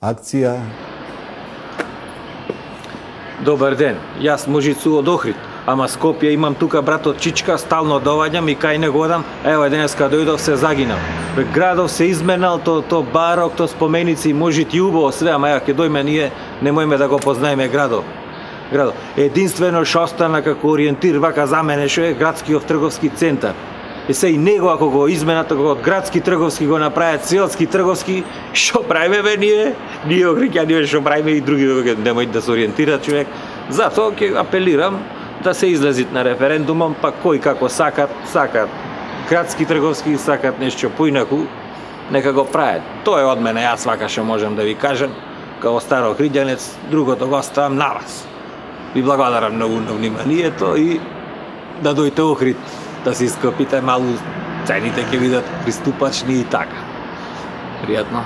акција. Добар ден, јас Можицу од Охрид, ама Скопје имам тука братот Чичка, стално доваѓам и кај него одам, ево денеска дојдов се загинав. Градов се изменал, то барок, то споменици, Можит и убаво све, ама ја ќе дојме ние, немојме да го познаеме градов. Единствено што остана како ориентир вака за мене што е градскиот трговски центар. И се и него ако го изменат, ако од градски трговски го направат селски трговски, што правиме бе ние? Ние Охриѓани што правиме и други немој да се ориентира човек. Затоа ќе апелирам да се излезит на референдумом, па кој како сакат. Градски трговски сакат нешто поинаку, нека го прават. Тоа е од мене, јас вака што можам да ви кажам, као стар охриѓанец, другото го оставам на вас. Ви благодарам многу на вниманието и да дојте Охрид, да се ископите малу, цените ќе бидат приступачни и така. Пријатно.